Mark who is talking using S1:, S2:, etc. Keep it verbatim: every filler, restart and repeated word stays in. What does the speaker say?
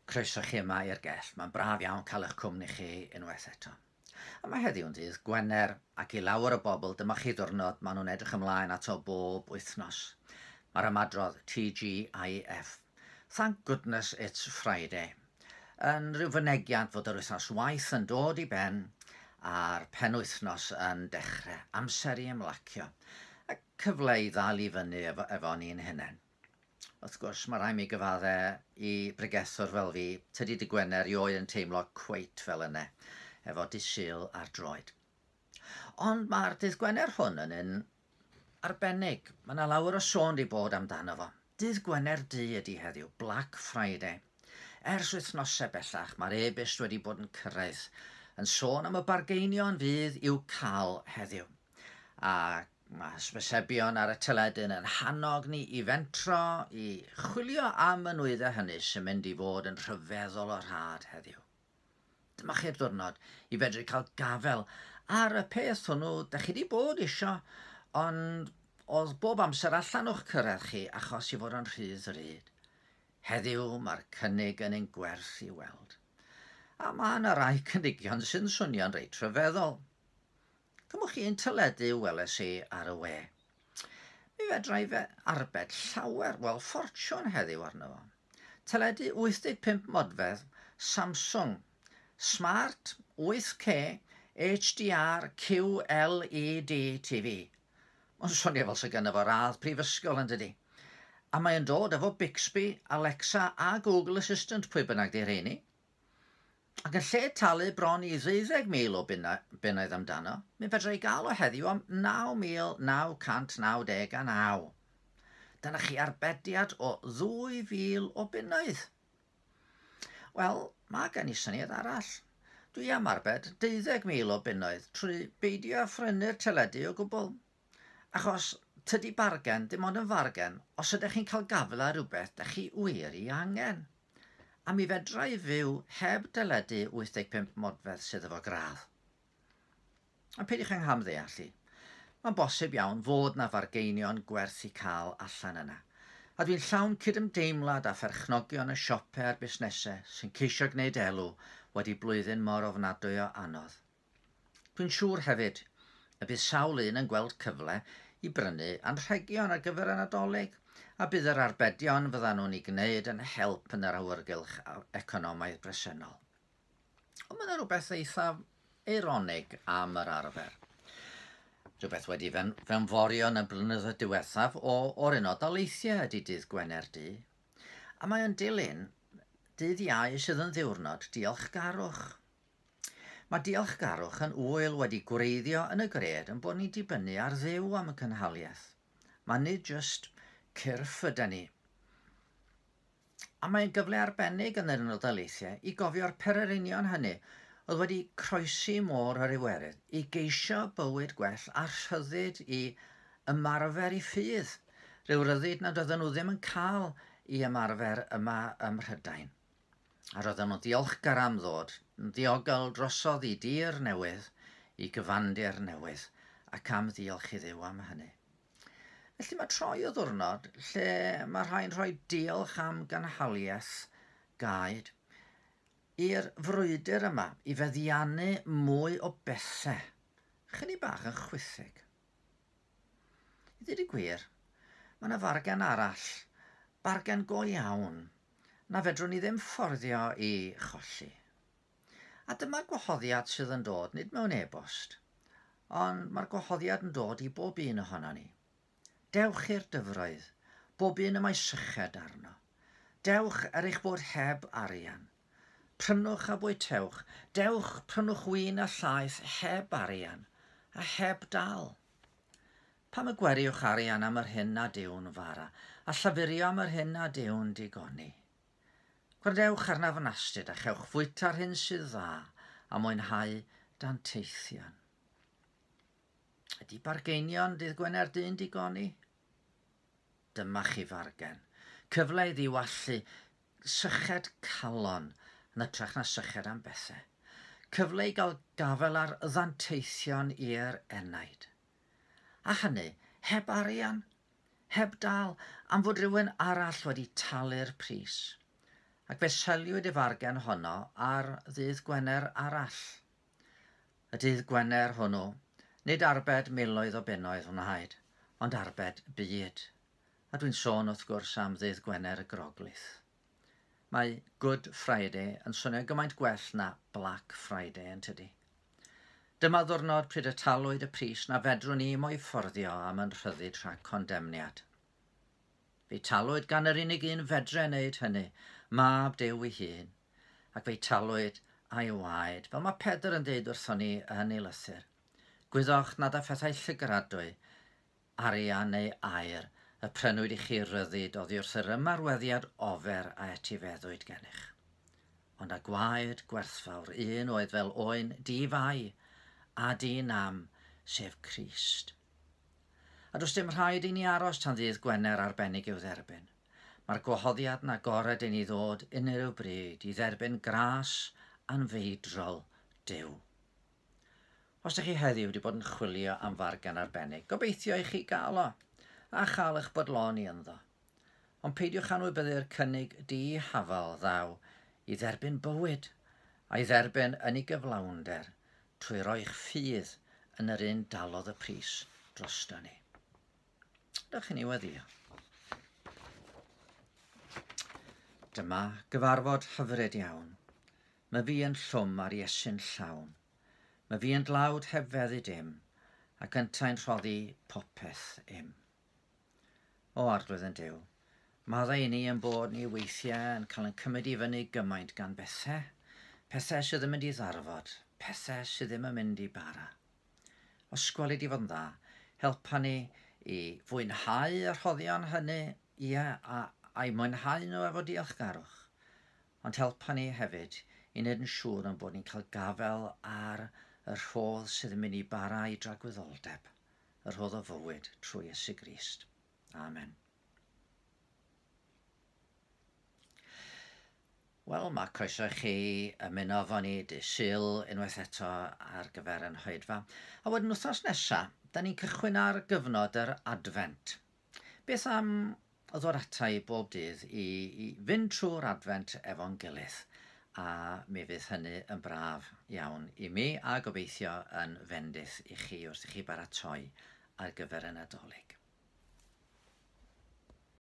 S1: Croeso chi yma i'r gell. Mae'n braf iawn cael eich cwmni chi unwaith eto. A mae heddiw'n ddydd Gwener, ac i lawer o bobl dyma chi ddwrnod maen nhw'n edrych ymlaen ato bob wythnos. Mae'r ymadrodd T G I F, Thank goodness it's Friday, yn rhyw fynegiant fod yr wythnos waith yn dod i ben a'r penwythnos yn dechrau, amser i ymlacio, a cyfle i ddal i fyny efo, efo ni'n hunain. Wrth gwrs, mae rhaid mi gyfadde i bregethwr fel fi, tydi dy Gwener erioed yn teimlo cweit fel yna, efo dydd Sul ar droed. Ond mae'r dydd Gwener hwn yn un arbennig. Mae yna lawer o sôn di bod amdano fo. Dydd Gwener Du ydy heddiw, Black Friday. Ers wythnosau bellach, mae'r e-byst wedi bod yn cyrraedd yn sôn am y bargeinion fydd i'w cael heddiw. A mae hysbysebion ar y teledu yn hannog ni i fentro, i chwilio am y nwyddau hynny sy'n mynd i fod yn rhyfeddol o rhad heddiw. Dyma chi'r diwrnod i fedru cael gafel ar y peth hwnnw da chi wedi bod isio, ond oedd bob amser allan o'ch cyrraedd chi achos i fod yn rhy ddrud. Heddiw mae'r cynnig yn ein gwerth i weld. A mae yna rai cynigion sy'n swnio'n reit rhyfeddol. Cymwch chi un teledu weles i ar y we. Mi fedra i fe arbed llawer, wel ffortiwn heddiw arno fo. Teledu wyth deg pump modfedd Samsung Smart wyth K H D R Q L E D T V. Mae'n swnio fel sy gynno fo radd prifysgol yn dydi. A mae'n dod efo Bixby, Alexa a Google Assistant, pwy bynnag di rheini. Ac yn lle talu bron i ddeuddeg mil o bunnoedd amdano, mi fedra i gael o heddiw am naw mil naw cant naw deg a naw. Dyna chi arbediad o ddwy fil o bunnoedd. Wel, mae gen i syniad arall. Dwi am arbed deuddeg mil o bunnoedd trwy beidio â phrynu'r teledu o gwbl. Achos tydi bargen dim ond yn fargen os ydych chi'n cael gafael ar rhywbeth dych chi wir ei angen. A mi fedra i fyw heb deledu wyth deg pump modfedd sydd efo gradd. A peidiwch yng nghamddeall i. Mae'n bosib iawn fod na fargeinion gwerth i cael allan yna. A dwi'n llawn cydymdeimlad â pherchnogion y siopau a'r busnesau sy'n ceisio gwneud elw wedi blwyddyn mor ofnadwy o anodd. Dwi'n siŵr hefyd y bydd sawl un yn gweld cyfle i brynu anrhegion ar gyfer y Nadolig, a bydd yr arbedion fyddan nhw'n ei gwneud yn help yn yr awyrgylch economaidd bresennol. Ond mae yna rhywbeth eithaf eironig am yr arfer. Rhywbeth wedi fewnforio yn y blynyddoedd diwethaf o, o'r Unol Daleithiau ydy dydd Gwener Du. A mae o'n dilyn dydd Iau sydd yn ddiwrnod diolchgarwch. Mae diolchgarwch yn ŵyl wedi gwreiddio yn y gred yn bod ni'n dibynnu ar Dduw am y cynhaliaeth. Mae nid jyst cyrff yda ni. A mae'n gyfle arbennig yn yr Unol Daleithiau i gofio'r pererinion hynny oedd wedi croesi môr yr Iwerydd i geisio bywyd gwell a rhyddid i ymarfer i ffydd, rhyw ryddid nad oedden nhw ddim yn cael i ymarfer yma ym Mhrydain. A roedden nhw'n ddiolchgar am ddod, yn ddiogel drosodd i dir newydd, i gyfandir newydd, ac am ddiolch i Dduw am hynny. Felly mae troi o ddwrnod lle mae rhai'n rhoi diolch am gynhaliaeth gaed i'r frwydr yma i feddiannu mwy o bethau, chydig bach yn chwithig. I ddweud y gwir, mae yna fargen arall, bargen go iawn, na fedrwn ni ddim fforddio i cholli. A dyma'r gwahoddiad sydd yn dod, nid mewn e-bost, ond mae'r gwahoddiad yn dod i bob un ohono ni. Dewch i'r dyfroedd, bob un y mae syched arno. Dewch er eich bod heb arian. Prynwch a bwytewch, dewch prynwch win a llaeth heb arian a heb dal. Pam y gweriwch arian am yr hyn nad yw'n fara, a llafurio am yr hyn nad yw'n digoni? Gwrandewch arnaf yn astud a chewch fwyta'r hyn sydd dda a mwynhau danteithion. Ydy bargeinion dydd Gwener Du'n digoni? Dyma chi fargen. Cyfle i ddiwallu syched calon yn hytrach na syched am bethau. Cyfle i gael gafael ar ddanteithion i'r enaid. A hynny, heb arian, heb dal, am fod rhywun arall wedi talu'r pris. Ac fe seliwyd y fargen honno ar ddydd Gwener arall. Y dydd Gwener hwnnw, nid arbed miloedd o bunnoedd wnaed, ond arbed byd. A dwi'n sôn wrth gwrs am ddydd Gwener y Groglith. Mae Good Friday yn swnio gymaint gwell na Black Friday yn tydi. Dyma ddwrnod pryd y talwyd y pris na fedrwn ni mo'i fforddio am yn rhyddid rhag condemniad. Fe'i talwyd gan yr unig un fedre wneud hynny, mab Duw ei hun, ac fe'i talwyd a'i waed, fel mae Pedr yn deud wrthon ni yn ei lythyr. Gwyddoch nad â phethau llygradwy, arian neu aur, y prynwyd i chi ryddid oddi wrth yr ymarweddiad ofer a etifeddwyd gennych. Ond â gwaed gwerthfawr un oedd fel oen di-fai a di-nam, sef Crist. A does dim rhaid i ni aros tan ddydd Gwener arbennig i'w dderbyn. Mae'r gwahoddiad yn agored i ni ddod unrhyw bryd i dderbyn gras anfeidrol Duw. Os ydych chi heddiw wedi bod yn chwilio am fargen arbennig, gobeithio i chi gael o, a chael eich bodloni ynddo. Ond peidiwch anwybyddu'r cynnig dihafal ddaw i dderbyn bywyd, a'i dderbyn yn ei gyflawnder trwy roi'ch ffydd yn yr un dalodd y pris drosto ni. Dewch i ni weddïo. Dyma gyfarfod hyfryd iawn. Mae fi yn llwm ar Iesu'n llawn. Mae fi yn dlawd heb feddu dim, ac yntau'n rhoddi popeth im. O Arglwydd yn Duw, maddau i ni yn bod ni weithiau yn cael ein cymryd i fyny gymaint gan bethau, pethau sydd yn mynd i ddarfod, pethau sydd ddim yn mynd i bara. Os gweli di fod yn dda, helpa ni i fwynhau y rhoddion hynny, ie, a, a'i mwynhau nhw efo diolchgarwch. Ond helpa ni hefyd i wneud yn siŵr yn bod ni'n cael gafael ar y rhodd sydd yn mynd i bara i dragwyddoldeb, y rhodd o fywyd trwy Iesu Grist. Amen. Wel, mae croeso i chi ymuno efo ni dydd Sul unwaith eto ar gyfer yn hoedfa. A wedyn wythnos nesaf, da ni'n cychwyn ar gyfnod yr Adfent. Beth am ddod ata i bob dydd i, i fynd trwy'r Adfent efo'n gilydd? A mi fydd hynny yn braf iawn i mi a gobeithio yn fendith i chi wrth i chi baratoi ar gyfer y Nadolig.